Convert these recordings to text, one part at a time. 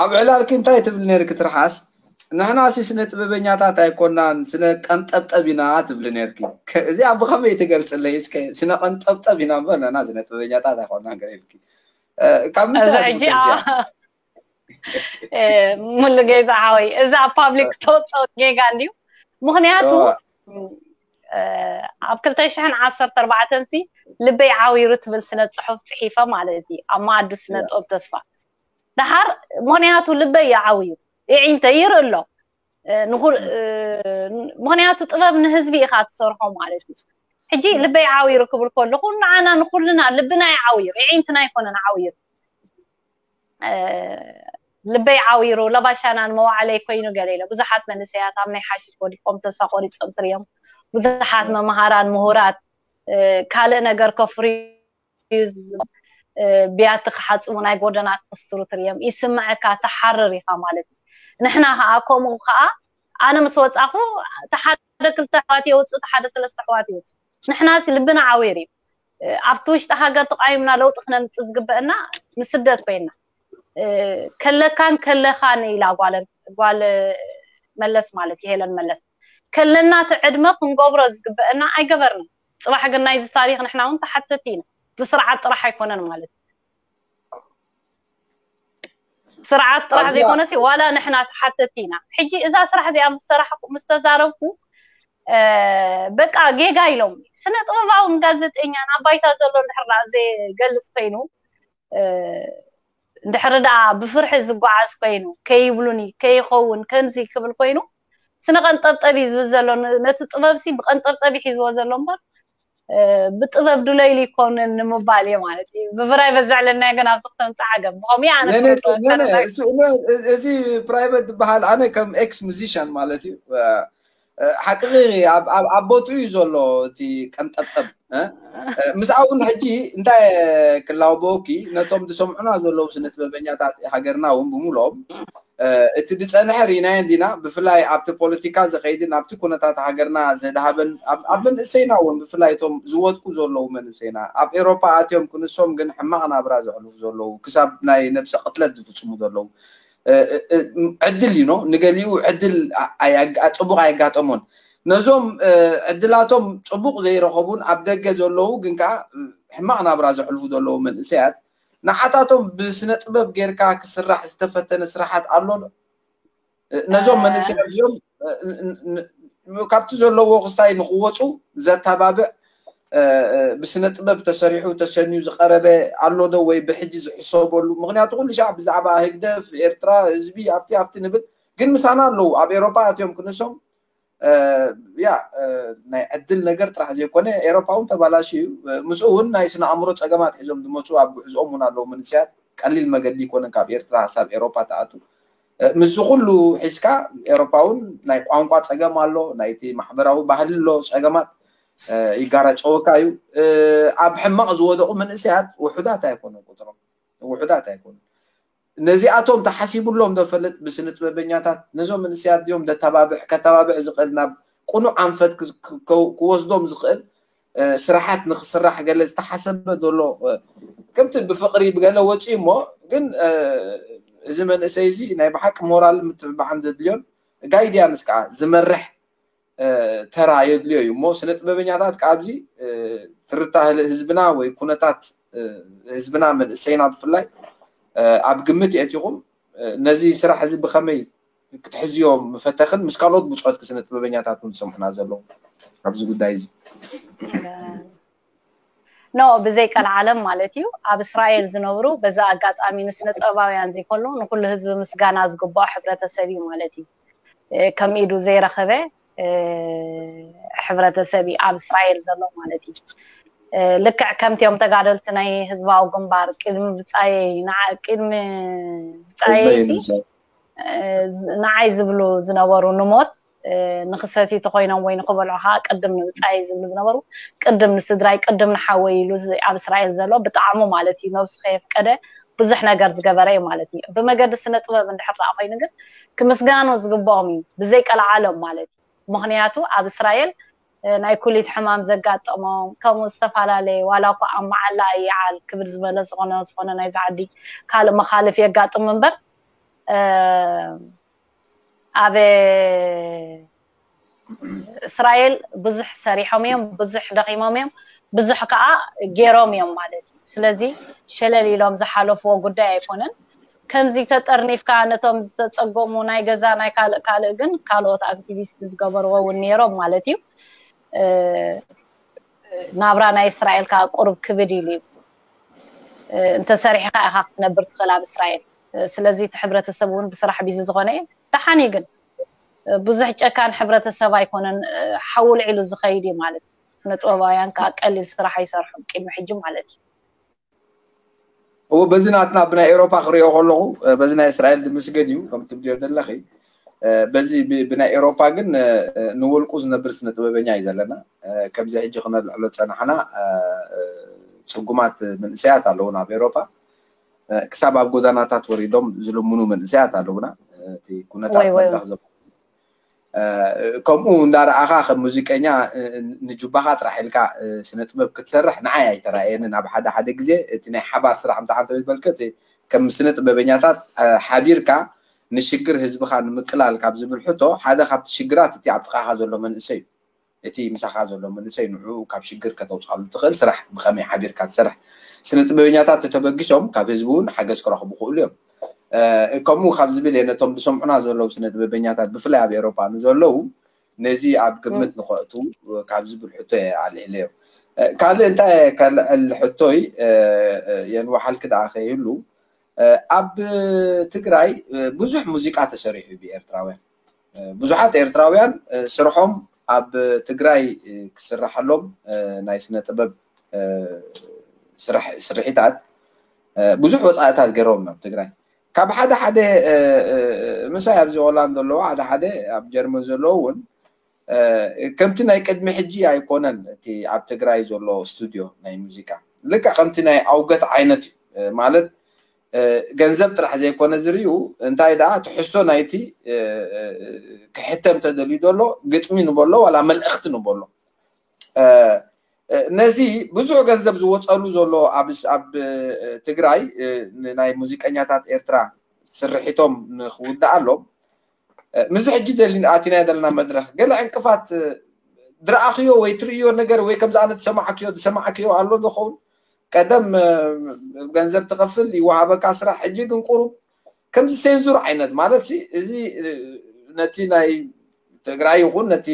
ኣብ ዕላልኪ እንታይ ትብል ነርኪ ትርሓስ? ንሕናሲ ስነ ጥበበኛታት ኣይኮናን፣ ስነ ቀንጠብጠብ ኢና ትብሊ ነርኪ። ከ- እዚኣ ብኸመይ ትገልጽለይ? እስከ ስነ ቀንጠብጠብ ኢና እምበር ንሕና ስነ ጥበበኛታት ኣይኮናን ገለ ኢልኪ። እ፣ ካብ ምንታይ እዛ ሕጂ ትምከስ እያ? ኣ- እ፣ ሙሉ ጌታ ሓወይ፣ እዛ ኣብ ፓብሊክ ተወፅኦ ጌጋ እንድዩ። ምኽንያቱ እዋ። እ፣ ኣብ ክልተ ሽሕን ዓሰርተ ኣርባዕተን ሲ ልበይ ዓዊሩ ትብል ስነ ፅሑፍ ፅሒፈ ማለት እዩ፣ ኣብ መኣዲ ስነ እዋ። ጥበብ ተስፋ። ደሓር ምኽንያቱ ልበይ እዩ ዓዊሩ፣ የዒንተይ ይርኢ ኣሎ። እ፣ ንኹል- እ፣ ምኽንያቱ ጥበብ ንህዝቢ ኢኻ ትሰርሖ ማለት እዩ። ሕጂ ልበይ ዓዊሩ ክብል ከለኹ ንዓና ንኹልና ልብና እዩ ዓዊሩ፣ የዒንትና ኣይኮነን ዓዊሩ። እ፣ ልበይ ዓዊሩ ለባሻናን መዋዕለይ ኮይኑ ገለ ኢለ። ብዙሓት መንእሰያት ኣብ ናይ ሓሽሽ ወዲቆም ተስፋ ቆሪጾም ትርዮም። ብዙሓት መምሃራን ምሁራት እ፣ ካልእ ነገር ከፍርዩ ዝ- እ፣ ብያቲ ክሓጽቡ ናይ ጎደና ክስትሩ ትርዮም። ይስምዐካ፣ ትሓርር ኢኻ ማለት እዩ። ንሕና ከዓ ከምኡ ከዓ ኣነ ምስ ወጻኹ እቲ ሓደ ክልተ ኣሕዋት የውፅእ፣ እቲ ሓደ ሰለስተ ኣሕዋት የውፅእ። ንሕናሲ ልብና ዓዊር እዩ። እ፣ ኣብቲ ውሽጢ ሃገር ተቃይምና ለውጢ ክነምፅእ ዝግበአና ንስደት ኮይና። እ፣ ከለካን ከለኻን ኢላ ጓል ጓል መለስ ማለት እዩ፣ ሄለን መለስ። ከለና እቲ ዕድመ ክንገብሮ ዝግበአና ኣይገበርና። ፅባሕ ግን ናይዚ ታሪኽ ንሕና እውን ተሓተቲ ኢና። እቲ ስርዓት ጥራሕ ኣይኮነን ማለት እዩ። ስርዓት ጥራሕ ኣብዛ ዘይኮነሲ ዋላ ንሕና ተሓተቲ ኢና። ሕጂ እዛ ስራሕ እዚኣ ምስ ሰራሕኩ ምስ ተዛረብኩ እ፣ በቃ ጌጋ ኢሎም። ስነ ጥበባውን ጋዜጠኛን ኣብ ባይታ ዘሎ እንድሕር ደኣ ዘይገልጽ ኮይኑ እ፣ እንድሕር ደኣ ብፍርሒ ዝጓዓዝ ኮይኑ ከይብሉኒ ከይኸውን ከምዚ ክብል ኮይኑ ስነ ቀንጠብጠብ እዩ ዝብል ዘሎ። ን- ነቲ ጥበብ ሲ ብቀንጠብጠብ ሒዝዎ ዘሎ እምበር እ፣ ብጥበብ ድለይሉ ይኮንን ንምባል እየ ማለት እዩ። ብፍራይ በዛዕለና ግን ኣብዚ ክተምፅእ ዓገብ ብኸምኡ ኣነ ነነ ስነ ጥበብ ነነ ተረዳእ እሱ እነ- እዚ ፕራይቬት ዝበሃል ኣነ ከም ኤክስ ሙዚሽያን ማለት እዩ እ፣ እ፣ ሓቅኺ ኣብ ኣብ ኣብ ቦትኡ እዩ ዘሎ እቲ ቀንጠብጠብ እ? እ፣ ምስኣ እውን ሕጂ እንታይ ክላውበወኪ ነቶም ዝሰምዑና ዘለዉ ስነ ጥበበኛታት ሃገርና እውን ብምልኦም እ፣ እቲ ዝፀንሐ ርኢናዮ እንዲና ብፍላይ ኣብቲ ፖለቲካ ዝኸይድን ኣብቲ ኩነታት ሃገርና ዘድሃበን ኣብ ኣብ መንእሰይና እውን ብፍላይ እቶም ዝወድቁ ዘለዉ መንእሰይና ኣብ ኤሮፓ ኣትዮም ክንሶም ግን ሕማቕ ናብራ ዘሕልፉ ዘለዉ ክሳብ ናይ ነብሰ ቅትለት ዝፍፅሙ ዘለዉ እ፣ እ፣ እ፣ ዕድል እዩ ኖ ንገሊኡ ዕድል ኣ- ኣይ- ኣጋ- ፅቡቅ ኣየጋጠሞን ነዞም እ፣ ዕድላቶም ፅቡቅ ዘይረኸቡን ኣብ ደገ ዘለዉ ግን ከዓ እ፣ ሕማቅ ናብራ ዘሕልፉ ዘለዉ መንእሰያት ንዓታቶም ብስነ ጥበብ ጌርካ ክስራሕ ዝተፈተነ ስራሓት ኣሎ ዶ? እ፣ ነዞም እ፣ መንእሰያት እዚኦም እ፣ ን- ን- ን- ካብቲ ዘለዎ ክስታይ ንክወፁ ዘተባብዕ እ፣ እ፣ ብስነ ጥበብ ተሰሪሑ ተሰንዩ ዝቀረበ ኣሎ ዶ ወይ ብሕጂ ዝሕሰበሉ? ምክንያቱ ኩሉ ሻዕ ብዛዕባ ህግደፍ ኤርትራ ህዝቢ ኣብቲ ኣብቲ ንብል ግን ምሳና ኣለዉ ኣብ ኤሮፓ ኣትዮም ክንሶም እ፣ ያ እ፣ ናይ ዕድል ነገር ጥራሕ ዘይኮነ ኤሮፓ እውን ተባላሽ እዩ እ፣ ምስኡ እውን ናይ ስነ ኣእምሮ ፀገማት ሒዞም ዝመፁ ኣብ ጉዕዝኦም እውን ኣለዉ መንእሰያት ቀሊል መገዲ ይኮነ ካብ ኤርትራ ሳብ ኤሮፓ ተኣቱ እ፣ ምስዚ ኩሉ ሒዝካ ኤሮፓ እውን ናይ ቋንቋ ፀገም ኣሎ ናይቲ ማሕበራዊ ባህሊ ኣሎ ፀገማት እ፣ ይጋራጨወካ እዩ እ፣ ኣብ ሕማቕ ዝወደቑ መንእሰያት ውሑዳት ኣይኮኑን ቁፅሮም ውሑዳት ኣይኮኑን ነዚኣቶም ተሓሲቡሎም ዶ ፈልጥ ብስነ ጥበበኛታት ነዞም መንእሰያት እዚኦም ደተባብዕ ከተባብዕ ዝኽእል ናብ ቁኑዕ ኣንፈት ክ- ክ- ክ- ክወስዶም ዝኽእል እ፣ ስራሓት ንክስራሕ ገለ ዝተሓሰበ ዘሎ እ፣ ከምቲ ብፍቅሪ ብገለ ወፂኡ እሞ ግን እ፣ እዚ መንእሰይ እዚ ናይ ብሓቂ ሞራል ምትብባዕን ዘድልዮን ጋይድያንስ ከዓ ዝመርሕ እ፣ ተራ የድልዮ እዩ እሞ ስነ ጥበበኛታት ከዓ ኣብዚ እ፣ ትርታ ህዝብና ወይ ኩነታት እ፣ ህዝብና መንእሰይና ብፍላይ እ፣ ኣብ ግምት የእቲኹም እ፣ ነዚ ስራሕ እዚ ብኸመይ ክትሕዝዮ ምፈተኽን ምስ ካልኦት ብፁዓት ስነ ጥበበኛታት እውን ዝሰምዑና ዘለዉ ኣብዚ ጉዳይ እዚ ኖ ብዘይ ቀልዓለም ማለት እዩ ኣብ እስራኤል ዝነብሩ በዛ ኣጋጣሚ ንስነ ጥበባውያን ዘይኮኑ ንኩሉ ህዝቢ ምስጋና ዝግባኦ ሕብረተሰብ እዩ ማለት እዩ ከም ኢዱ ዘይረኸበ ሕብረተሰብ እዩ ኣብ እስራኤል ዘሎ ማለት እዩ ልክዕ ከምቲኦም ተጋደልቲ ናይ ህዝባዊ ግንባር ቅድሚ ብፃየይ ቅድሚ ብፃየይ ንዓይ ዝብሉ ዝነበሩ ንሞት ንክሰትዩ ተኮይኖም ወይ ንክበልዑ ከዓ ቅድም ንብፃየይ ዝብሉ ዝነበሩ ቅድም ንስድራይ ቅድም ንሓወይ ኢሉ ኣብ እስራኤል ዘሎ ብጣዕሙ ማለት እዩ ነብሱ ከየፍቀደ ብዙሕ ነገር ዝገበረ እዩ ማለት እዩ ብመገዲ ስነ ጥበብ እንድሕር ደኣ ኮይኑ ግን ክምስጋኑ ዝግብኦም እዩ ብዘይ ቀልዓለም ማለት እዩ ምክንያቱ ኣብ እስራኤል ናይ ኩሊት ሕማም ዘጋጠሞም ከምኡ ዝተፈላለየ ዋላ እኳ ኣብ መዓላ ይዓል ክብር ዝበለ ዝኾነ ዝኾነ ናይዚ ዓዲ ካልእ መኻልፍ የጋጥም እምበር ኣብ እስራኤል ብዙሕ ሰሪሖም እዮም፣ ብዙሕ ደኺሞም እዮም፣ ብዙሕ ከዓ ገይሮም እዮም ማለት እዩ። ስለዚ ሸለል ኢሎም ዝሓለፍዎ ጉዳይ ኣይኮነን። ከምዚ ተጠርኒፍካ ነቶም ዝተፀገሙ ናይ ገዛ ናይ ካልእ ካልእ ግን ካልኦት ኣክቲቪስት ዝገበርዎ እውን ነይሮም ማለት እዩ። ናብራ ናይ እስራኤል ከዓ ቁሩብ ክብድ ኢሉ እዩ። እንተሰሪሕካ ኢካ ክትነብር ትኽእል ኣብ እስራኤል። ስለዚ እቲ ሕብረተሰብ እውን ብስራሕ ቢዚ ዝኾነ እዩ። ደሓን እዩ ግን ብዙሕ ጨካን ሕብረተሰብ ኣይኮነን። ሓውል ዒሉ ዝኸይድ እዩ ማለት እዩ። ስነ ጥበባውያን ከዓ ቀሊል ስራሕ ኣይሰርሑን ቅድሚ ሕጂ ማለት እዩ። እዎ በዚ ናትና ብናይ ኤውሮፓ ክሪኦ ከለኹ በዚ ናይ እስራኤል ድምስገን እዩ ከም ትብልዮ ዘለኺ። በዚ ብናይ ኤውሮፓ ግን ንወልቁ ዝነብር ስነ ጥበበኛ እዩ ዘለና። ከምዚ ሕጂ ክነልዕሎ ፀናሕና ፅጉማት መንእሰያት ኣለዉ ናብ ኤውሮፓ። ክሳብ ኣብ ጎዳናታት ወሪዶም ዝልምኑ መንእሰያት ኣለዉና። እቲ ኩነታት መድረክ ዘ ከምኡ እንዳረኣኻ ከም ሙዚቀኛ ንጁባኻ ጥራሕ ኢልካ ስነ ጥበብ ክትሰርሕ ንዓይ ኣይተራእየንን። ኣብ ሓደ ሓደ ግዜ እቲ ናይ ሓባር ስራሕ እንተዓንተ ዝበልከ ከም ስነ ጥበበኛታት ሓቢርካ ንሽግር ህዝብኻ ንምቅላል ካብ ዝብል ሕቶ ሓደ ካብቲ ሽግራት እቲ ኣብ ጥቃኻ ዘሎ መንእሰይ እዩ። እቲ ምሳኻ ዘሎ መንእሰይ ንዑ ካብ ሽግር ከተውፅኣሉ ትኽእል ስራሕ ብኸመይ ሓቢርካ ትሰርሕ። ስነ ጥበበኛታት ተተበጊሶም ካብ ህዝቢ እውን ሓገዝ ክረኽቡ ክእሉ እዮም። ከምኡ ካብ ዝብል እየ ነቶም ዝሰምዑና ዘለዉ ስነ ጥበበኛታት ብፍላይ ኣብ ኤሮፓ ንዘለዉ ነዚ ኣብ ግምት ንኸእቱ ካብ ዝብል ሕቶ እየ ኣልዒለዮ። ካልእ እንታይ ከልዕል ሕቶይ የንዋሓልኪ ደኣ ከይህሉ ኣብ ትግራይ ብዙሕ ሙዚቃ ተሰሪሑ ብኤርትራውያን። ብዙሓት ኤርትራውያን ስርሖም ኣብ ትግራይ ክስራሓሎም ናይ ስነ ጥበብ ስርሒታት ብዙሕ ወፃእታት ገይሮም ናብ ትግራይ ካብ ሓደ ሓደ ምሳይ ኣብዚ ሆላንድ ዘለዉ ሓደ ሓደ ኣብ ጀርመን ዘለዉ እውን ከምቲ ናይ ቅድሚ ሕጂ ኣይኮነን። እቲ ኣብ ትግራይ ዘሎ ስቱድዮ ናይ ሙዚቃ ልክዕ ከምቲ ናይ ኣውገት ዓይነት እዩ ማለት ገንዘብ ጥራሕ ዘይኮነ ዝርዩ እንታይ ደኣ ትሕዝቶ ናይቲ ክሕተም ተደልዩ ዘሎ ግጥሚ ንበሎ ዋላ መልእኽቲ ንበሎ ነዚ ብዙሕ ገንዘብ ዝወፀሉ ዘሎ ኣብ ትግራይ ናይ ሙዚቀኛታት ኤርትራ ስርሒቶም ንክውድኣሎም ምዚ ሕጂ ኣቲናዮ ዘለና መድረክ ገለ ዕንቅፋት ዝረኣኽዮ ወይ ትርእዮ ነገር ወይ ከምዚ ኣነ ዝሰማዕክዮ ዝሰማዕክዮ ኣሎ ዝኸውን ቀደም ገንዘብ ትኸፍል ይወሃበካ ስራሕ ሕጂ ግን ቁሩብ ከምዚ ሴንዙር ዓይነት ማለት እዚ ነቲ ናይ ትግራይ ይኹን ነቲ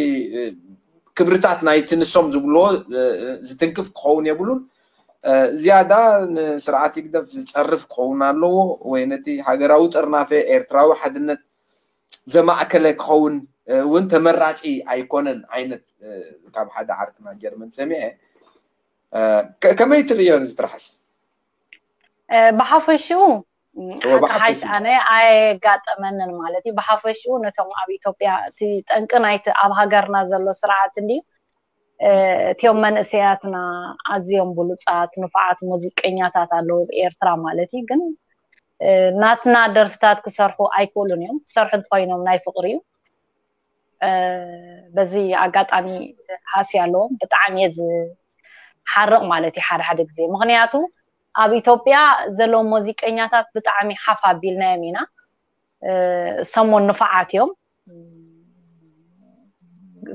ክብርታት ናይቲ ንሶም ዝብልዎ ዝትንክፍ ክኸውን የብሉን። ዝያዳ ንስርዓት ይግደፍ ዝፀርፍ ክኸውን ኣለዎ ወይ ነቲ ሃገራዊ ጥርናፈ ኤርትራዊ ሓድነት ዘማእከለ ክኸውን እውን ተመራፂ ኣይኮነን ዓይነት ካብ ሓደ ዓርክና ጀርመን ሰሚዐ። ከመይ ትርእዮ እዚ ጥራሕስ? ብሓፈሽኡ ሓቂ ሓሽ ኣነ ኣየጋጠመንን ማለት እዩ። ብሓፈሽኡ ነቶም ኣብ ኢትዮጵያ እቲ ጠንቂ ናይቲ ኣብ ሃገርና ዘሎ ስርዓት እንዲ እቲዮም መንእሰያትና ኣዝዮም ብሉፃት ንፉዓት ሙዚቀኛታት ኣለዉ ኤርትራ ማለት እዩ። ግን ናትና ደርፍታት ክሰርሑ ኣይክእሉን እዮም። ክሰርሑ እንተኮይኖም ናይ ፍቅሪ እዩ። በዚ ኣጋጣሚ ሃሲ ኣለዎም ብጣዕሚ እየ ዝሓርቕ ማለት እዩ ሓደ ሓደ ግዜ። ምክንያቱ ኣብ ኢትዮጵያ ዘለዉ ሙዚቀኛታት ብጣዕሚ ሓፍ ኣቢልናዮም ኢና። ሰሞን ንፉዓት እዮም።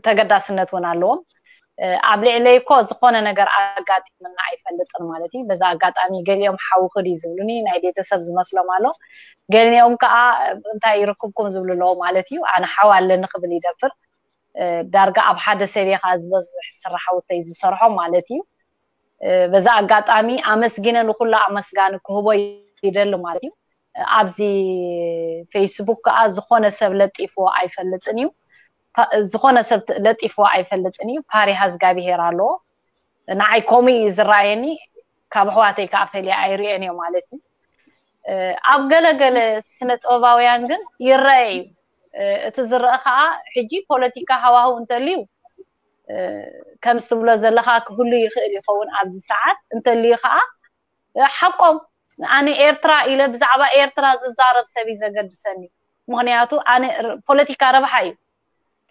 ተገዳስነት እውን ኣለዎም። ኣብ ልዕለይ እኮ ዝኾነ ነገር ኣጋጢምና ኣይፈልጥን ማለት እዩ። በዛ ኣጋጣሚ ገሊኦም ሓውኺ ድዩ ዝብሉኒ ናይ ቤተሰብ ዝመስሎም ኣሎ። ገሊኦም ከዓ እንታይ ይርክብኩም ዝብሉ ኣለዎ ማለት እዩ። ኣነ ሓው ኣለኒ ክብል ይደፍር። ዳርጋ ኣብ ሓደ ሰብ እየ ከዓ ዝበዝሕ ስራሕ ወተይ ዝሰርሖ ማለት እዩ። በዛ ኣጋጣሚ ኣመስጊነ ንኩሉ ኣመስጋኒ ክህቦ ይደሊ ማለት እዩ። ኣብዚ ፌስቡክ ከዓ ዝኾነ ሰብ ለጢፍዎ ኣይፈልጥን እዩ። ዝኾነ ሰብ ለጢፍዎ ኣይፈልጥን እዩ። ፓሪሃ እግዚኣብሄር ኣለዎ። ንዓይ ከምኡ እዩ ዝረኣየኒ። ካብ ኣሕዋተይ ከዓ ፈልየ ኣይርእየን እዮ ማለት እዩ። ኣብ ገለገለ ስነ ጥበባውያን ግን ይረአ እዩ። እቲ ዝረአ ከዓ ሕጂ ፖለቲካ ሃዋህው እንተልዩ ከምዚ ትብሎ ዘለካ ክህሉ ይኽእል ይኸውን ኣብዚ ሰዓት እንተልዩ ከዓ ሓቆም ኣነ ኤርትራ ኢለ ብዛዕባ ኤርትራ ዝዛረብ ሰብ እዩ ዘገድሰኒ። ምክንያቱ ኣነ ፖለቲካ ረብሓ እዩ።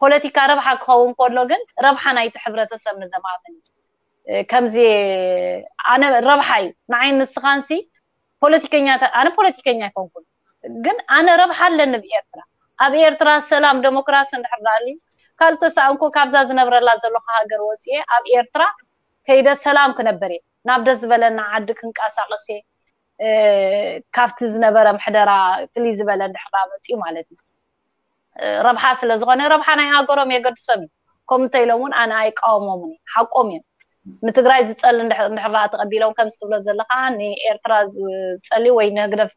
ፖለቲካ ረብሓ ክኸውን ከሎ ግን ረብሓ ናይቲ ሕብረተሰብ ንዘማእምን እዩ። ከምዚ ኣነ ረብሓ እዩ ንዓይ ንስኻንሲ ፖለቲከኛ ኣነ ፖለቲከኛ ኣይኮንኩን። ግን ኣነ ረብሓ ኣለኒ ብኤርትራ። ኣብ ኤርትራ ሰላም ደሞክራሲ እንድሕር ደኣ ኣልዩ፣ ካልተሳእንኩ ካብዛ ዝነብረላ ዘለኹ ሃገር ወፅኤ ኣብ ኤርትራ ከይደ ሰላም ክነበር እየ። ናብ ደስ ዝበለና ዓዲ ክንቀሳቐስ እየ። ካብቲ ዝነበረ ምሕደራ ፍልይ ዝበለ እንድሕር ደኣ መፅኡ ማለት እዩ። ረብሓ ስለ ዝኾነ ረብሓ ናይ ሃገሮም የገድሶም እዩ። ከምኡ እንተኢሎም እውን ኣነ ኣይቃወሞምን እየ። ሓቆም እዮም። ንትግራይ ዝፀሊ እንድሕር ደኣ ተቐቢሎም ከምዚ ትብሎ ዘለኻ ንኤርትራ ዝፀሊ ወይ ንህግደፍ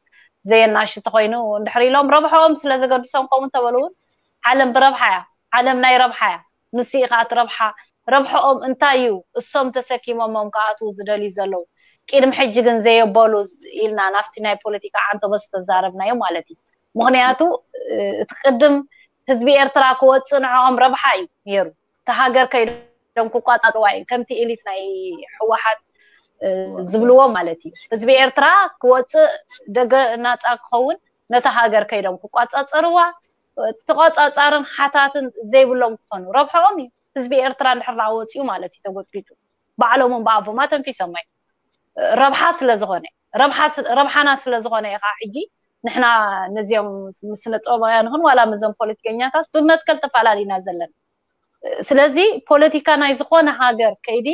ዘየናሽ ተኾይኑ እንድሕር ኢሎም ረብሓኦም ስለ ዘገድሶም ከምኡ እንተበሉ እውን ዓለም ብረብሓ እያ። ዓለም ናይ ረብሓ እያ። ንሱ እዩ ከዓ እቲ ረብሓ። ረብሓኦም እንታይ እዩ? እሶም ተሰኪሞሞም ክኣትዉ ዝደልዩ ዘለዉ ቅድሚ ሕጂ ግን ዘየበሉ ኢልና ናብቲ ናይ ፖለቲካ ዓንተቦ ዝተዛረብናዮ ማለት እዩ። ምኽንያቱ እቲ ቅድም ህዝቢ ኤርትራ ክወፅእ ንዕኦም ረብሓ እዩ ነይሩ። እቲ ሃገር ከይዶም ክቋፃፅርዋ እዩ። ከምቲ ኤሊት ናይ ህወሓት ዝብልዎ ማለት እዩ። ህዝቢ ኤርትራ ክወፅእ ደገ ናፃ ክኸውን ነቲ ሃገር ከይዶም ክቋፃፀርዋ ተቋፃፃርን ሓታትን ዘይብሎም ክኾኑ ረብሕኦም እዩ። ህዝቢ ኤርትራ እንድሕር ደኣ ወፂኡ ማለት እዩ ተጎጥቢጡ ባዕሎም እምበኣቦማ ተንፊሶሞ እዩ። ረብሓ ስለ ዝኾነ ረብሓና ስለ ዝኾነ እዩ ከዓ ሕጂ ንሕና ነዚኦም ምስነ ጥበባውያን ይኹን ዋላ ምስዞም ፖለቲከኛታት ብመትከል ተፈላለዩና ዘለና። ስለዚ ፖለቲካ ናይ ዝኾነ ሃገር ከይዲ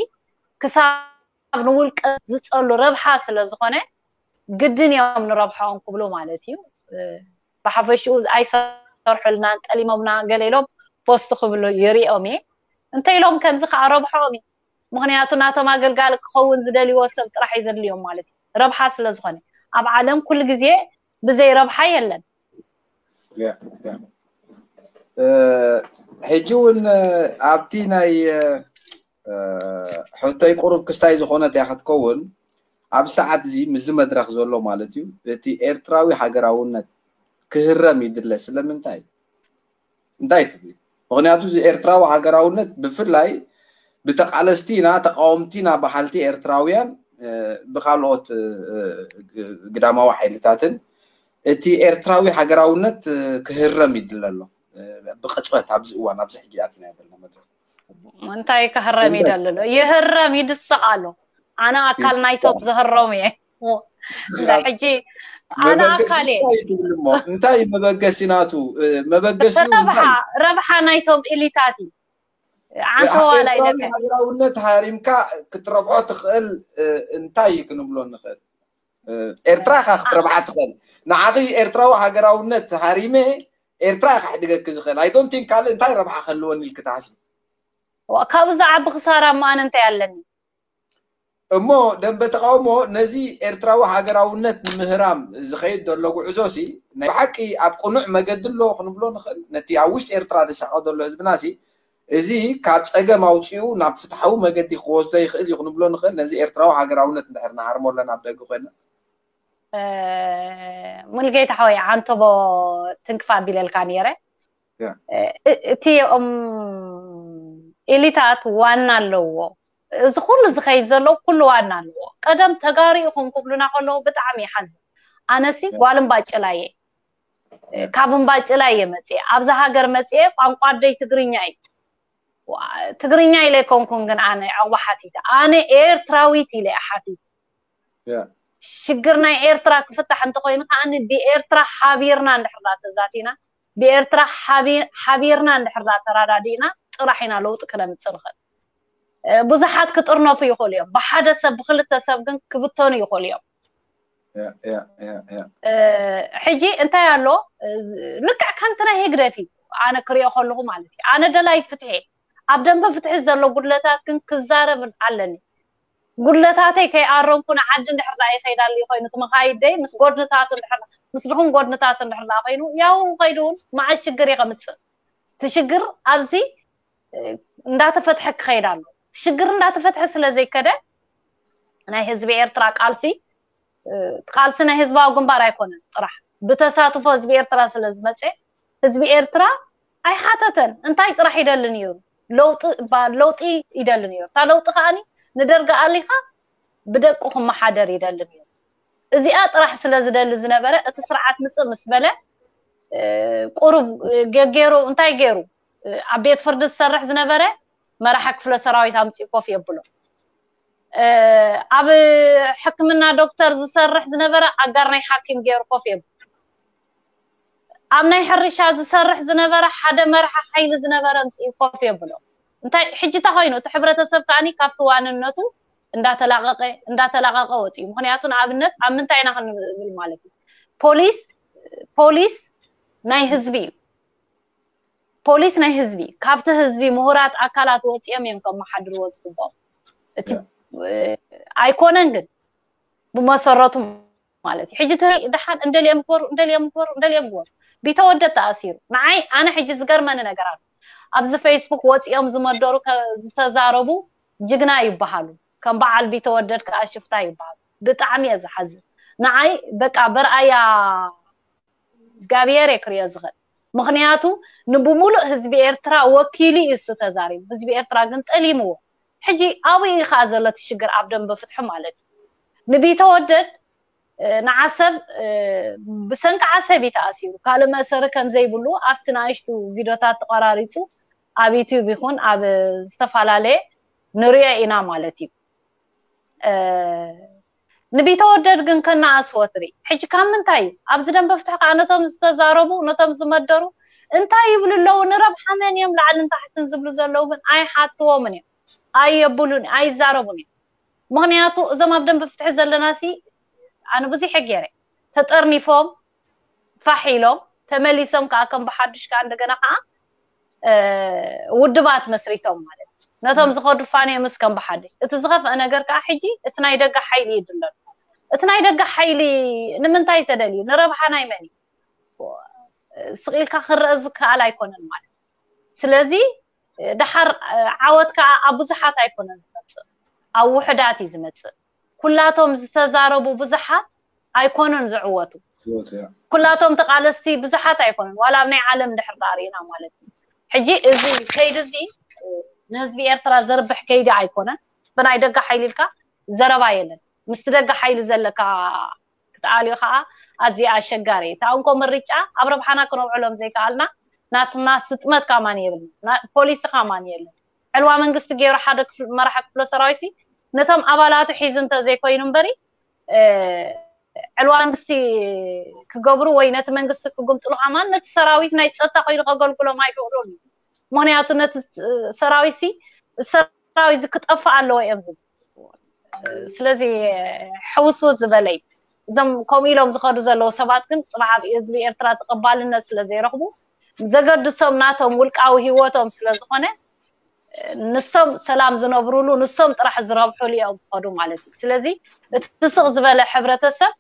ክሳብ ንውልቀ ዝፀሉ ረብሓ ስለ ዝኾነ ግድን እዮም ንረብሓኦም ክብሉ ማለት እዩ። ብሓፈሽኡ ኣይሰርሑልናን ጠሊሞምና ገለ ኢሎም ፖስት ክብሉ ይሪኦም እየ። እንተ ኢሎም ከምዚ ከዓ ረብሓኦም እዩ። ምኽንያቱ ናቶም ኣገልጋሊ ክኸውን ዝደልይዎ ሰብ ጥራሕ እዩ ዘድልዮም ማለት እዩ። ረብሓ ስለ ዝኾነ ኣብ ዓለም ኩሉ ግዜ ብዘይ ረብሓ የለን። ሕጂ እውን ኣብቲ ናይ ሕቶይ ቁሩብ ክስታይ ዝኾነት እያ ክትከውን ኣብ ሰዓት እዚ ምስዚ መድረክ ዘሎ ማለት እዩ። እቲ ኤርትራዊ ሃገራውነት ክህረም ይድለ ስለምንታይ? እንታይ ትብል? ምኽንያቱ እዚ ኤርትራዊ ሃገራውነት ብፍላይ ብተቃለስቲ ኢና ተቃወምቲ ኢና በሃልቲ ኤርትራውያን ብካልኦት ግዳማዊ ሓይልታትን እቲ ኤርትራዊ ሃገራውነት ክህረም ይድለ ኣሎ። ብቅፅበት ኣብዚ እዋን ኣብዚ ሕጂ ኣቲና ዘለና መድረክ እንታይ ክህረም ይደሊ ኣሎ? ይህረም ይድስቕ ኣሎ። ኣነ ኣካል ናይቶም ዝህረሙ እየ። ሕጂ ኣነ ኣካል እየ። እንታይ መበገሲ ናቱ? መበገሲ ረብሓ ናይቶም ኢሊታት እዩ። ዓንተዋላ ኢለካ ሃገራውነት ሃሪምካ ክትረብሖ ትኽእል እንታይ ክንብሎ ንኽእል? ኤርትራ ኢኻ ክትረብሓ ትኽእል። ንዓኺ ኤርትራዊ ሃገራውነት ሃሪመ ኤርትራ ኢኻ ሕድገኪ ዝኽእል። I don't think ካልእ እንታይ ረብሓ ክህልወኒ ኢልኪ ትሓስቢ? ካብኡ ዝዓቢ ክሳራ እሞ ኣነ እንታይ ኣለኒ? እሞ ደንበ ተቃውሞ ነዚ ኤርትራዊ ሃገራውነት ንምህራም ዝኸይድ ዘሎ ጉዕዞ ሲ ናይ ብሓቂ ኣብ ቅኑዕ መገዲ ኣሎ ክንብሎ ንኽእል? ነቲ ኣብ ውሽጢ ኤርትራ ዝሳቐ ዘሎ ህዝብና ሲ እዚ ካብ ጸገም ኣውጺኡ ናብ ፍትሓዊ መገዲ ክወስዶ ይኽእል እዩ ክንብሎ ንኽእል? ነዚ ኤርትራዊ ሃገራውነት እንድሕር ንሃርሞ ኣለና ኣብ ደገ ኮይና ሙልጌታ ሓወይ ዓንተቦ ትንክፍ ኣቢለልካ ነይረ። እቲ ኦም ኤሊታት ዋና ኣለዎ። እዚ ኩሉ ዝኸይድ ዘሎ ኩሉ ዋና ኣለዎ። ቀደም ተጋሩ ኢኹም ክብሉና ከለዉ ብጣዕሚ ይሓዝን። ኣነሲ ጓልን ባጭላ እየ። ካብ እምባጭላ እየ መፅየ። ኣብዚ ሃገር መፅየ ቋንቋ ኣደይ ትግርኛ እዩ። ትግርኛ ኢለ ኣይኮንኩን ግን ኣነ ዐቕባ ሓቲተ። ኣነ ኤርትራዊት ኢለ እየ ሓቲተ። ሽግር ናይ ኤርትራ ክፍታሕ እንተኾይኑ ከዓ ብኤርትራ ሓቢርና እንድሕር ተዛቲና ብኤርትራ ሓቢርና እንድሕር ተራዳዲእና ጥራሕ ኢና ለውጢ ክነምፅእ ንኽእል። ብዙሓት ክጥርነፉ ይኽእሉ እዮም። ብሓደ ሰብ ብክልተ ሰብ ግን ክብተኑ ይኽእሉ እዮም። ሕጂ እንታይ ኣሎ ልክዕ ከምቲ ናይ ህግደፍ እዩ ኣነ ክሪኦ ከለኹ ማለት እዩ። ኣነ ደላይ ፍትሒ ኣብ ደንበ ፍትሒ ዘሎ ጉድለታት ግን ክዛረብ ኣለኒ። ጉድለታተይ ከይኣረምኩ ንዓዲ እንድሕር ደኣ ይኸይዳሉ ኮይኑ እቲ መኻይደይ ምስ ጎድንታቱ እንድሕር ምስ ድኹም ጎድንታቱ እንድሕር ደኣ ኮይኑ ያው ከይዱ እውን መዓት ሽግር እየ ከምፅእ። እቲ ሽግር ኣብዚ እንዳተፈትሐ ክኸይድ ኣሎ። ሽግር እንዳተፈትሐ ስለ ዘይከደ ናይ ህዝቢ ኤርትራ ቃልሲ ቃልሲ ናይ ህዝባዊ ግንባር ኣይኮነን ጥራሕ ብተሳትፎ ህዝቢ ኤርትራ ስለ ዝመፀ ህዝቢ ኤርትራ ኣይሓተተን። እንታይ ጥራሕ ይደሊ ነይሩ? ለውጢ እባ ለውጢ ይደሊ ነይሩ። እታ ለውጢ ከዓኒ ንደርጊ ኣሊኻ ብደቁ ክመሓደር ይደሊ ነይሩ። እዚኣ ጥራሕ ስለ ዝደሊ ዝነበረ እቲ ስርዓት ምፅእ ምስ በለ ቁሩብ ገገይሩ እንታይ ገይሩ ኣብ ቤት ፍርዲ ዝሰርሕ ዝነበረ መራሒ ክፍለ ሰራዊት ኣምፂኡ ኮፍ የብሎ። ኣብ ሕክምና ዶክተር ዝሰርሕ ዝነበረ ኣጋር ናይ ሓኪም ገይሩ ኮፍ የብሎ። ኣብ ናይ ሕርሻ ዝሰርሕ ዝነበረ ሓደ መርሓ ሓይሊ ዝነበረ ምጽኡ ኮፍ የብሎ። እንታይ ሕጂ እንታይ ኮይኑ? እቲ ሕብረተሰብ ከኣኒ ካብቲ ዋንነቱ እንዳተላቀቀ እንዳተላቀቀ ወጽኡ። ምክንያቱ ንኣብነት ኣብ ምንታይ ኢና ክንብል ማለት እዩ? ፖሊስ ፖሊስ ናይ ህዝቢ እዩ። ፖሊስ ናይ ህዝቢ፣ ካብቲ ህዝቢ ምሁራት ኣካላት ወጽኦም እዮም ከመሓድርዎ ዝግብኦም። እቲ ኣይኮነን ግን ብመሰረቱ ማለት እዩ። ሕጂ ተይ ደሓን እንደልዮም ግበሩ እንደልዮም ግበሩ እንደልዮም ግበሩ። ቢተወደድ ተኣሲሩ። ንዓይ ኣነ ሕጂ ዝገርመኒ ነገር ኣሎ። ኣብዚ ፌስቡክ ወጽኦም ዝመደሩ ዝተዛረቡ ጅግና ይበሃሉ። ከም በዓል ቢተወደድ ከኣ ሽፍታ ይበሃሉ። ብጣዕሚ እየ ዝሓዝን። ንዓይ በቃ በርኣያ እግዚኣብሔር እየ ክሪኦ ዝኽእል። ምክንያቱ ንብሙሉእ ህዝቢ ኤርትራ ወኪሉ እዩ እሱ ተዛሪቡ። ህዝቢ ኤርትራ ግን ጠሊምዎ። ሕጂ ኣብኡ እዩ ከዓ ዘሎ እቲ ሽግር ኣብ ደንበ ፍትሒ ማለት እዩ። ንቢተወደድ ንዓሰብ ብሰንኪ ዓሰብ እዩ ተኣሲሩ። ካልእ መእሰሪ ከም ዘይብሉ ኣብቲ ንኣሽቱ ቪድዮታት ተቐራሪፁ ኣብ ዩትዩብ ይኹን ኣብ ዝተፈላለየ ንሪኦ ኢና ማለት እዩ። ንቢተወደድ ግን ከነኣስዎ ትርኢ። ሕጂ ካብ ምንታይ እዩ? ኣብዚ ደንበ ፍትሒ ከዓ ነቶም ዝተዛረቡ ነቶም ዝመደሩ እንታይ ይብሉ ኣለዉ? ንረብሓ መን እዮም ላዕልን ታሕትን ዝብሉ ዘለዉ ግን ኣይሓትዎምን እዮም። ኣየብሉን ኣይዛረቡን እዮም። ምክንያቱ እዞም ኣብ ደንበ ፍትሒ ዘለና ሲ ኣነ ብዙሕ ገይረ ተጠርኒፎም ፋሕ ኢሎም ተመሊሶም ከዓ ከም ብሓዱሽ ከዓ እንደገና ከዓ ውድባት መስሪቶም ማለት ነቶም ዝኸዱ ፋንዮም እስከም ብሓድሽ። እቲ ዝኸፍአ ነገር ከዓ ሕጂ እቲ ናይ ደገ ሓይሊ ይድለሉ። እቲ ናይ ደገ ሓይሊ ንምንታይ ተደልዩ? ንረብሓ ናይ መን እዩ? ስቕ ኢልካ ክረአ ዝከኣል ኣይኮነን ማለት። ስለዚ ደሓር ዓወት ከዓ ኣብ ብዙሓት ኣይኮነን ዝመፅእ፣ ኣብ ውሕዳት እዩ ዝመፅእ። ኩላቶም ዝተዛረቡ ብዙሓት ኣይኮኑን ዝዕወቱ። ኩላቶም ተቓለስቲ ብዙሓት ኣይኮኑን፣ ዋላ ኣብ ናይ ዓለም ድሕር ዳኣ ርኢና ማለት እዩ። ሕጂ እዚ ከይዲ እዚ ንህዝቢ ኤርትራ ዘርብሕ ከይዲ ኣይኮነን። ብናይ ደገ ሓይሊ ኢልካ ዘረባ የለን። ምስቲ ደገ ሓይሊ ዘለካ ክትኣልዮ ከዓ ኣዝዩ ኣሸጋሪ እዩ። እታ እንኮ ምርጫ ኣብ ረብሓና ክነውዕሎም ዘይከኣልና ናትና ስጥመት ካማን የብልና፣ ፖሊሲ ካማን የለን። ዕልዋ መንግስቲ ገይሩ ሓደ መራሒ ክፍለ ሰራዊት ነቶም ኣባላቱ ሒዙ እንተዘይኮይኑ እምበሪ ዕልዋ መንግስቲ ክገብሩ ወይ ነቲ መንግስቲ ክጉምጥሉ ከማን ነቲ ሰራዊት ናይ ፀጥታ ኮይኑ ከገልግሎም ኣይክእሉን እዩ። ምክንያቱ ነቲ ሰራዊት ሲ ሰራዊት ክጠፍእ ኣለዎ እዮም ዝብሉ። ስለዚ ሕውስውስ ዝበለይ እዞም ከምኡ ኢሎም ዝኸዱ ዘለዉ ሰባት ግን ፅባሕ ኣብ ህዝቢ ኤርትራ ተቐባልነት ስለ ዘይረኽቡ ዘገድሶም ናቶም ውልቃዊ ህይወቶም ስለ ዝኾነ ንሶም ሰላም ዝነብሩሉ ንሶም ጥራሕ ዝረብሑሉ እዮም ዝኸዱ ማለት እዩ። ስለዚ እቲ ስቕ ዝበለ ሕብረተሰብ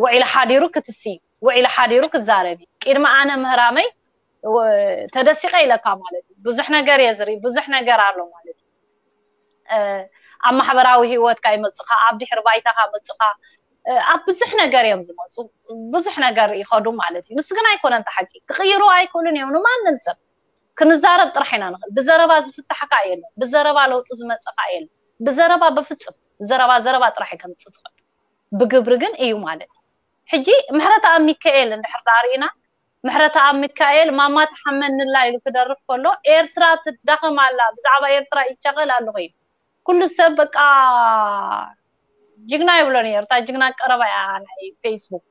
ውዒሉ ሓዲሩ ክትሲ ውዒሉ ሓዲሩ ክዛረብ እዩ። ቅድሚ ኣነ ምህራመይ ተደሲቐ ኢለካ ማለት እዩ። ብዙሕ ነገር እየ ዝርኢ፣ ብዙሕ ነገር ኣሎ ማለት እዩ። ኣብ ማሕበራዊ ህይወትካ ይመፁኻ፣ ኣብ ድሕሪ ባይታኻ መፁኻ፣ ኣብ ብዙሕ ነገር እዮም ዝመፁ፣ ብዙሕ ነገር ይኸዱ ማለት እዩ። ንሱ ግን ኣይኮነን እቲ ሓቂ። ክቕይሩ ኣይክእሉን እዮም ንማንም ሰብ። ክንዛረብ ጥራሕ ኢና ንኽእል። ብዘረባ ዝፍታሕ ከዓ የለን፣ ብዘረባ ለውጢ ዝመፅእ ከዓ የለን። ብዘረባ በፍፅም ዘረባ ዘረባ ጥራሕ እዩ ከምፅእ ዝኽእል። ብግብሪ ግን እዩ ማለት እዩ። ሕጂ ምሕረተኣብ ሚካኤል እንድሕር ዳኣ ርኢና ምሕረተኣብ ሚካኤል ማማ ትሓመንላ ኢሉ ክደርፍ ከሎ ኤርትራ ትዳኸም ኣላ ብዛዕባ ኤርትራ ይቻቐል ኣለኹ እዩ። ኩሉ ሰብ በቃ ጅግና ይብሎ ነይሩ። እታ ጅግና ቀረባ እያ ናይ ፌስቡክ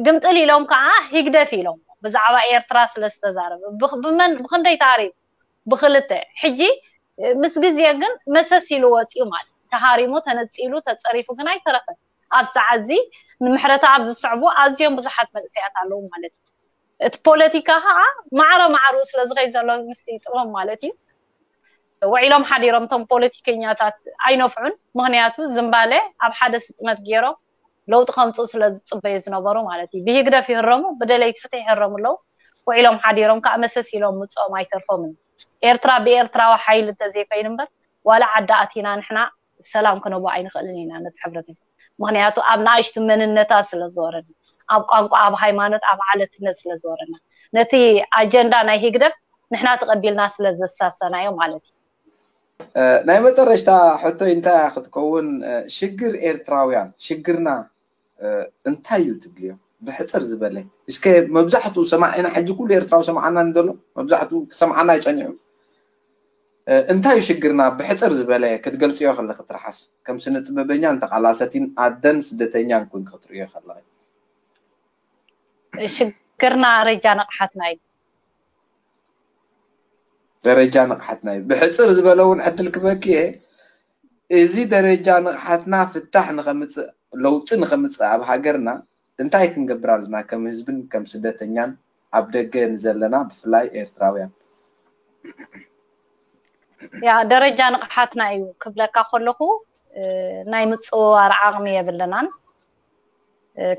ግምጥል ኢሎም ከዓ ሂግደፍ ኢሎም ብዛዕባ ኤርትራ ስለ ዝተዛረበ ብመን ብክንደይ ታሪክ ብክልተ ሕጂ ምስ ግዜ ግን መሰስ ኢሉ ወፂኡ ማለት ተሃሪሙ ተነፂሉ ተፀሪፉ ግን ኣይተረፈን። ኣብ ሰዓት እዚ ንምሕረተኣብ ዝስዕቡ ኣዝዮም ብዙሓት መንእሰያት ኣለዉ ማለት እዩ። እቲ ፖለቲካ ከዓ ማዕረ ማዕሩ ስለ ዝኸይ ዘሎ ምስቲ ጥበብ ማለት እዩ። ውዒሎም ሓዲሮም እቶም ፖለቲከኛታት ኣይነፍዑን። ምክንያቱ ዝምባለ ኣብ ሓደ ስጥመት ገይሮም ለውጢ ከምፅኡ ስለ ዝፅበዩ ዝነበሩ ማለት እዩ። ብህግደፍ ይህረሙ፣ ብደለይቲ ፍትሒ ይህረሙ ኣለዉ። ውዒሎም ሓዲሮም ከዓ መሰስ ኢሎም ምፅኦም ኣይተርፎምን። ኤርትራ ብኤርትራዊ ሓይሊ እንተዘይኮይኑ እምበር ዋላ ዓዲ ኣቲና ንሕና ሰላም ክነቦ ኣይንኽእልን ኢና ነቲ ሕብረተሰብ። ምክንያቱ ኣብ ንኣሽቱ መንነታት ስለ ዝወረድና፣ ኣብ ቋንቋ፣ ኣብ ሃይማኖት፣ ኣብ ዓለትነት ስለ ዝወረድና ነቲ ኣጀንዳ ናይ ህግደፍ ንሕና ተቐቢልና ስለ ዘሳሰናዮ ማለት እዩ። ናይ መጨረሽታ ሕቶይ እንታይ ክትከውን ሽግር ኤርትራውያን ሽግርና እንታይ እዩ ትብልዮ? ብሕፅር ዝበለ እስከ መብዛሕትኡ ሰማዒና ሕጂ ኩሉ ኤርትራዊ ሰማዓና ንደሎ መብዛሕትኡ ክሰምዓና ይፀኒሑ እንታይ እዩ ሽግርና ብሕፅር ዝበለ ክትገልፅዮ ከለክ ትርሓስ ከም ስነ ጥበበኛን ተቃላሰቲን ኣደን ስደተኛን ኮንክ ክትርእዮ ከለክ? ሽግርና ደረጃ ንቕሓትና እዩ። ደረጃ ንቕሓትና እዩ። ብሕፅር ዝበለ እውን ዕድል ክበኪ እየ። እዚ ደረጃ ንቕሓትና ፍታሕ ንኸምፅእ፣ ለውጢ ንኸምፅእ ኣብ ሃገርና እንታይ ክንገብር ኣለና? ከም ህዝብን ከም ስደተኛን ኣብ ደገ ንዘለና ብፍላይ ኤርትራውያን። ያ ደረጃ ንቕሓትና እዩ ክብለካ ከለኹ ናይ ምፅውዋር ዓቕሚ የብልናን፣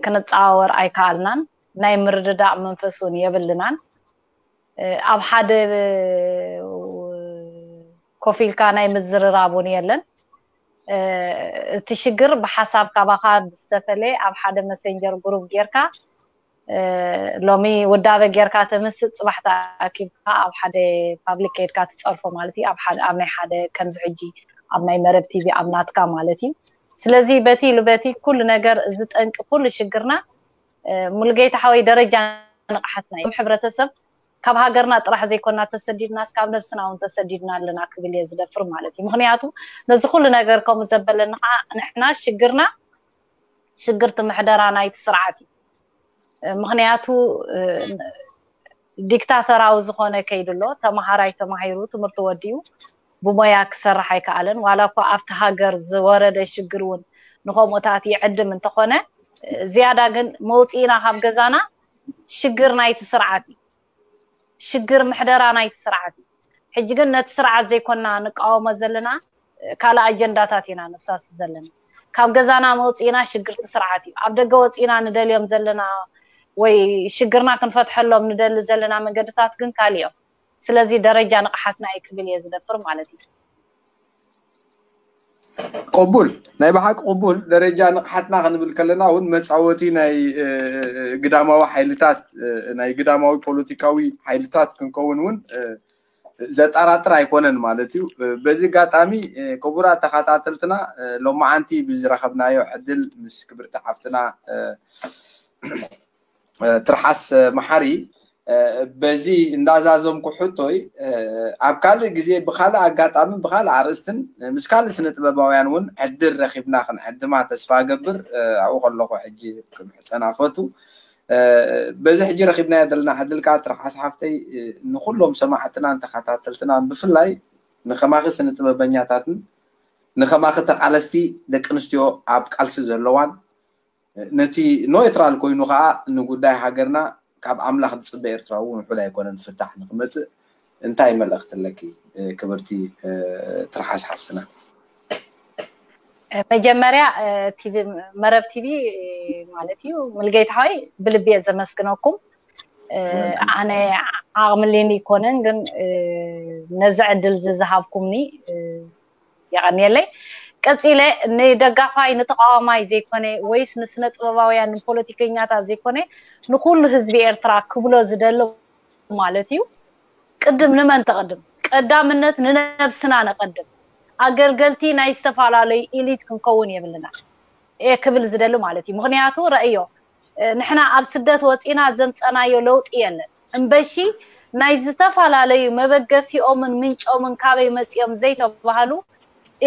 ክንፃወር ኣይከኣልናን፣ ናይ ምርድዳእ መንፈስ እውን የብልናን። ኣብ ሓደ ኮፍ ኢልካ ናይ ምዝርራብ እውን የለን። እቲ ሽግር ብሓሳብ ካባኻ ብዝተፈለየ ኣብ ሓደ መሰንጀር ግሩፕ ጌርካ ሎሚ ውዳበ ጌርካ ተምስጥ፣ ፅባሕ ተኣኪብካ ኣብ ሓደ ፓብሊክ ከይድካ ትፀርፎ ማለት እዩ። ኣብ ናይ ሓደ ከምዚ ሕጂ ኣብ ናይ መረብ ቲቪ ኣብ ናትካ ማለት እዩ። ስለዚ በቲ ኢሉ በቲ ኩሉ ነገር እዚ ጠንቂ ኩሉ ሽግርና ሙሉጌታ ሓወይ ደረጃ ንቕሓትና እዩ። ሕብረተሰብ ካብ ሃገርና ጥራሕ ዘይኮና ተሰዲድናስ ካብ ነብስና እውን ተሰዲድና ኣለና ክብል እየ ዝደፍር ማለት እዩ። ምክንያቱ ነዚ ኩሉ ነገር ከምኡ ዘበለኒ ከዓ ንሕና ሽግርና ሽግር እቲ ምሕደራ ናይቲ ስርዓት እዩ። ምክንያቱ ዲክታተራዊ ዝኾነ ከይዱ ኣሎ። ተማሃራይ ተማሂሩ ትምህርቱ ወዲኡ ብሞያ ክሰርሕ ኣይከኣለን። ዋላ እኳ ኣብቲ ሃገር ዝወረደ ሽግር እውን ንከምኡታት ይዕድም እንተኾነ ዝያዳ ግን መውፅኢና ካብ ገዛና ሽግር ናይቲ ስርዓት እዩ። ሽግር ምሕደራ ናይቲ ስርዓት እዩ። ሕጂ ግን ነቲ ስርዓት ዘይኮና ንቃወሞ ዘለና ካልእ ኣጀንዳታት ኢና ነሳሲ ዘለና። ካብ ገዛና መውፅኢና ሽግርቲ ስርዓት እዩ። ኣብ ደገ ወፂና ንደልዮም ዘለና ወይ ሽግርና ክንፈትሐሎም ንደሊ ዘለና መንገድታት ግን ካልእ እዮም። ስለዚ ደረጃ ንቕሓትና እዩ ክብል እየ ዝደፍር ማለት እዩ። ቅቡል፣ ናይ ብሓቂ ቅቡል። ደረጃ ንቕሓትና ክንብል ከለና እውን መፃወቲ ናይ ግዳማዊ ሓይልታት፣ ናይ ግዳማዊ ፖለቲካዊ ሓይልታት ክንከውን እውን ዘጠራጥር ኣይኮነን ማለት እዩ። በዚ ኣጋጣሚ ክቡራት ተኸታተልትና ሎማዓንቲ ብዝረኸብናዮ ዕድል ምስ ክብርቲ ሓፍትና ትርሓስ መሓሪ በዚ እንዳዛዘምኩ ሕቶይ ኣብ ካልእ ግዜ ብካልእ ኣጋጣምን ብካልእ ኣርእስትን ምስ ካልእ ስነ ጥበባውያን እውን ዕድል ረኺብና ክንዕድማ ተስፋ እገብር። ኣብኡ ከለኹ ሕጂ ክምሕፀና ፈቱ። በዚ ሕጂ ረኺብናዮ ዘለና ዕድል ከዓ ትርሓስ ሓፍተይ ንኩሎም ሰማዕትናን ተኸታተልትናን ብፍላይ ንከማኺ ስነ ጥበበኛታትን ንከማኺ ተቃለስቲ ደቂ ኣንስትዮ ኣብ ቃልሲ ዘለዋን ነቲ ኖትራል ኮይኑ ከዓ ንጉዳይ ሃገርና ካብ ኣምላኽ ዝፅበ ኤርትራዊ እውን ውሑድ ኣይኮነን ፍታሕ ንክመፅእ እንታይ መልእኽቲ ኣለኪ ክብርቲ ትርሓስ ሓፍትና? መጀመርያ ቲቪ መረብ ቲቪ ማለት እዩ ሙሉጌታ ሓወይ ብልቢ እየ ዘመስግነኩም። ኣነ ዓቕሚ ሊኒ ይኮነን ግን ነዚ ዕድል እዚ ዝሃብኩምኒ የቐንየለይ። ቀፂለ ንደጋፋይ ንተቃዋማይ ዘይኮነ ወይስ ንስነ ጥበባውያን ንፖለቲከኛታት ዘይኮነ ንኩሉ ህዝቢ ኤርትራ ክብሎ ዝደሊ ማለት እዩ። ቅድም ንመን ተቐድም? ቀዳምነት ንነብስና ነቐድም። ኣገልገልቲ ናይ ዝተፈላለዩ ኢሊት ክንከውን የብልና እየ ክብል ዝደሊ ማለት እዩ። ምክንያቱ ረእዮ ንሕና ኣብ ስደት ወፂና ዘምፀናዮ ለውጢ የለን። እምበሺ ናይ ዝተፈላለዩ መበገሲኦምን ምንጮምን ካበይ መፂኦም ዘይተባህሉ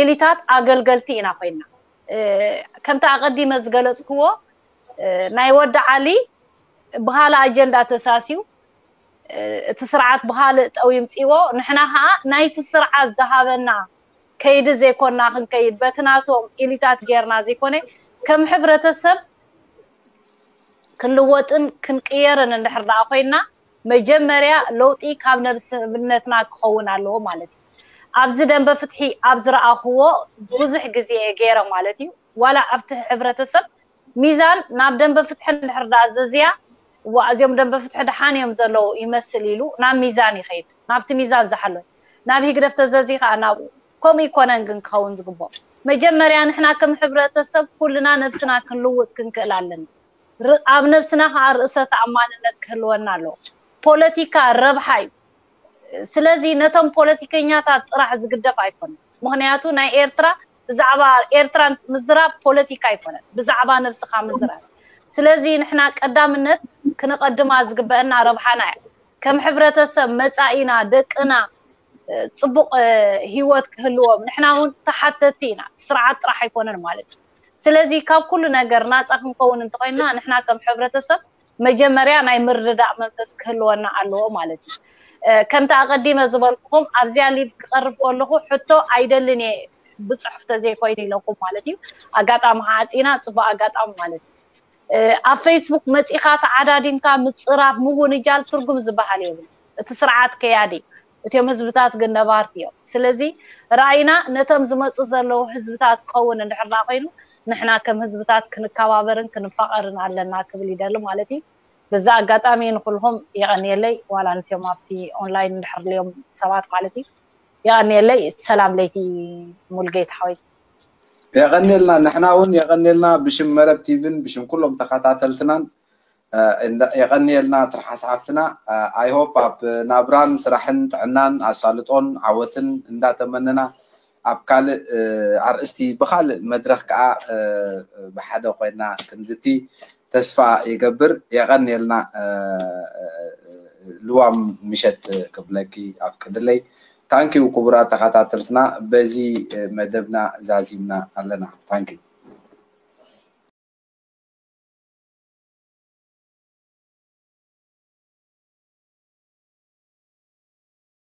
ኢሊታት ኣገልገልቲ ኢና ኮይና። ከምቲ ኣቐዲመ ዝገለፅክዎ ናይ ወዲ ዓሊ ብካልእ ኣጀንዳ ተሳስዩ እቲ ስርዓት ብካልእ ጠው ይምፅዎ። ንሕና ከዓ ናይቲ ስርዓት ዝሃበና ከይዲ ዘይኮና ክንከይድ በቲ ናቶም ኢሊታት ጌርና ዘይኮነ ከም ሕብረተሰብ ክንልወጥን ክንቅየርን እንድሕር ደኣ ኮይና መጀመርያ ለውጢ ካብ ነብስነትና ክኸውን ኣለዎ ማለት እዩ። ኣብዚ ደንበ ፍትሒ ኣብ ዝረኣኽዎ ብዙሕ ግዜ እየ ገይረ ማለት እዩ። ዋላ ኣብቲ ሕብረተሰብ ሚዛን ናብ ደንበ ፍትሒ እንድሕር ደኣ ዘዝያ እዋ እዚኦም ደንበ ፍትሒ ደሓን እዮም ዘለዉ ይመስል ኢሉ ናብ ሚዛን ይኸይድ። ናብቲ ሚዛን ዝሓሎ ናብ ህግደፍ ተዘዝዩ ከዓ ናብኡ። ከምኡ ይኮነን ግን ክኸውን ዝግብኦ። መጀመርያ ንሕና ከም ሕብረተሰብ ኩልና ነብስና ክንልውጥ ክንክእል ኣለና። ኣብ ነብስና ከዓ ርእሰ ተኣማንነት ክህልወና ኣለዎ። ፖለቲካ ረብሓ እዩ። ስለዚ ነቶም ፖለቲከኛታት ጥራሕ ዝግደፍ ኣይኮነን። ምክንያቱ ናይ ኤርትራ ብዛዕባ ኤርትራ ምዝራብ ፖለቲካ ኣይኮነን፣ ብዛዕባ ነብስካ ምዝራብ። ስለዚ ንሕና ቀዳምነት ክነቐድማ ዝግበአና ረብሓና እያ። ከም ሕብረተሰብ መጻኢና ደቅና ፅቡቕ ህይወት ክህልዎም ንሕና እውን ተሓተቲ ኢና። ስርዓት ጥራሕ ኣይኮነን ማለት እዩ። ስለዚ ካብ ኩሉ ነገር ናፃ ክንከውን እንተኮይንና ንሕና ከም ሕብረተሰብ መጀመርያ ናይ ምርድዳእ መንፈስ ክህልወና ኣለዎ ማለት እዩ። ከምቲ ኣቐዲመ ዝበልኩኹም ኣብዚኣ ሊቭ ክቐርብ ከለኹ ሕቶ ኣይደልን እየ ብፅሑፍ ተዘይኮይኑ ኢለኩም ማለት እዩ። ኣጋጣሚ ዓፂና ፅቡቅ ኣጋጣሚ ማለት እዩ። ኣብ ፌስቡክ መፂኻ ተዓዳዲምካ ምፅራፍ ምውንጃል ትርጉም ዝበሃል የብሉ። እቲ ስርዓት ከያዲ እቲኦም ህዝብታት ግን ነባርቲ እዮም። ስለዚ ራእይና ነቶም ዝመፁ ዘለዉ ህዝብታት ክኸውን እንድሕር ደኣ ኮይኑ ንሕና ከም ህዝብታት ክንከባበርን ክንፋቐርን ኣለና ክብል ይደሊ ማለት እዩ። በዚ ኣጋጣሚ ንኩልኹም የቐንየለይ፣ ዋላ ነቲኦም ኣብቲ ኦንላይን እንድሕር ልዮም ሰባት ማለት እዩ። የቐንየለይ። ሰላም ለይቲ ሙልጌታ ሓወይ። የቐንየልና። ንሕና እውን የቐንየልና ብሽም መረብ ቲቪን ብሽም ኩሎም ተኸታተልትናን የቐንየልና። ትርሓስ ሓፍትና፣ I hope ኣብ ናብራን ስራሕን ጥዕናን ኣሳልጦን ዓወትን እንዳተመነና ኣብ ካልእ ኣርእስቲ ብኻልእ መድረኽ ከዓ ብሓደ ኮይና ክንዝቲ ተስፋ ይገብር። የቐንየልና። ልዋም ምሸት ክብለኪ ኣፍቅድለይ። ታንኪዩ ክቡራት ተኸታተልትና፣ በዚ መደብና ዛዚምና ኣለና። ታንኪዩ።